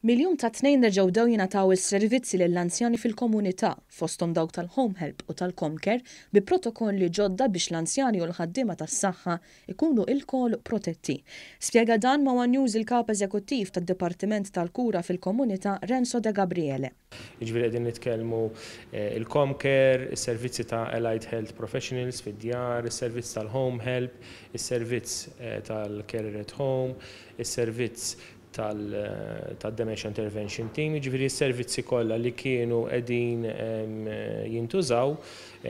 Mill-jum tat-Tnejn reġgħu bdew jingħataw is-servizzi lill-anzjani fil-komunità, fosthom dawk tal-Home Help u tal-Comcare, bi protokolli ġodda biex l-anzjani u l-ħaddiema tas-saħħa jkunu ilkoll protetti. Spjega dan ma' one News il-Kap Eżekuttiv tad-Dipartiment tal-Kura fil-Komunità Renzo Degabriele. Jiġifieri qegħdin nitkellmu il-Comcare, is-servizzi ta' Allied Health Professionals fid-djar, is-servizz tal-Home Help, is-servizz tal-Carer at Home, is-servizz tad-Dementia Intervention Team, jiġifieri s-servizzi kollha li kienu qegħdin jintużaw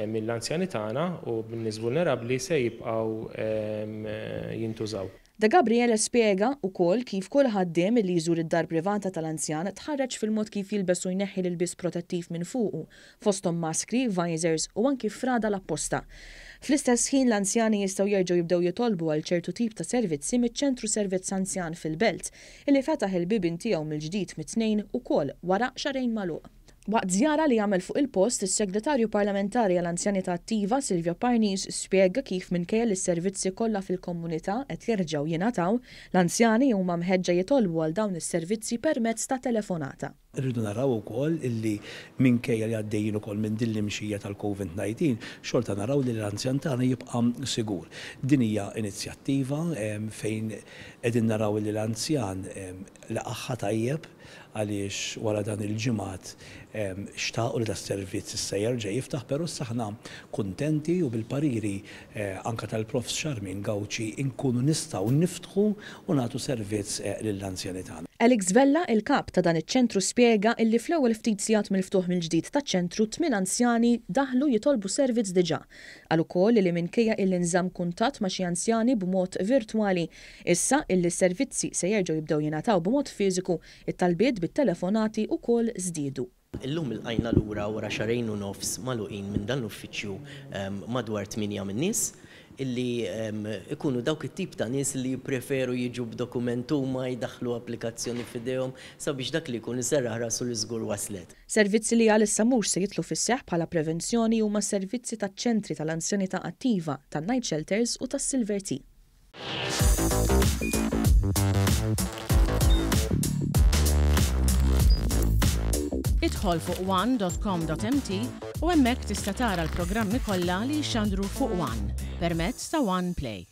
mill-anzjani tagħna u min-nies vulnerabbli se jibqgħu jintużaw. Degabriele spjega wkoll kif kull ħaddiem li jżur id-dar privata tal-anzjan tħarreġ fil-mod kif jilbes u jneħħi l-ilbies protettiv minn fuqu, fosthom maskri, visors u anki frada l-apposta. Fl-istess ħin l-anzjani jistgħu jerġgħu jibdew jitolbu għal ċertu tip ta' servizzi miċ-Ċentru Servizz Anzjan fil-Belt, illi fetaħ il-bibien tiegħu mill-ġdid mit-Tnejn ukoll wara xahrejn magħluq. Waqt żjara li għamel fuq il-post, is-Segretarju Parlamentari għall-Anzjanità Attiva, Silvio Parnis, spjega kif minkejja li s-servizzi kollha fil-komunità qed jerġgħu jingħataw, l-anzjani huma mħeġġa jitolbu għal dawn is-servizzi permezz ta' telefonata. Irridu naraw ukoll illi minkejja li għaddejjin ukoll minn din l-imxija tal-Covid 19, xorta naraw li l-anzjan tagħna jibqa' sigur. Din hija inizjattiva fejn qegħdin naraw illi l-anzjan laqagħha tajjeb għaliex wara dan il-ġimgħat xtaqu li das-servizz issa jerġa' jiftaħ però issa aħna kuntenti u bil-pariri anke tal-Profs Charmaine Gauci nkunu nistgħu niftħu u nagħtu servizz lill-anzjani tagħna. Alex Vella, il-Kap ta' dan iċ-ċentru spjega illi fl-ewwel ftit sigħat mill-ftuħ mill-ġdid taċ-ċentru tmien anzjani daħlu jitolbu servizz diġà. Qal ukoll illi minkejja illi nżamm kuntatt ma' xi anzjani b'mod virtwali, issa illi s-servizzi se jerġgħu jibdew jingħataw b'mod fiżiku, it-talbiet bit-telefonati ukoll żdiedu. Illum ilqajna lura wara xahrejn u nofs magħluqin minn dan l-uffiċċju madwar tmienja min-nies illi ikunu dawk it-tip ta' nies li jippreferu jiġu b'dokument huma, jdaħħlu applikazzjoni f'idejhom sabiex dak li jkun iserraħ rasu li żgur waslet. Servizzi li għalissa mhux se jidħlu fis-seħħ bħala prevenzjoni huma s-servizzi taċ-ċentri tal-anzjanità attiva, tan-night shelters u tas-Silver Tea. Idħol fuq one.com.mt u hemmhekk tista' tara l-programmi kollha li jixxandru fuq One permezz ta' One Play.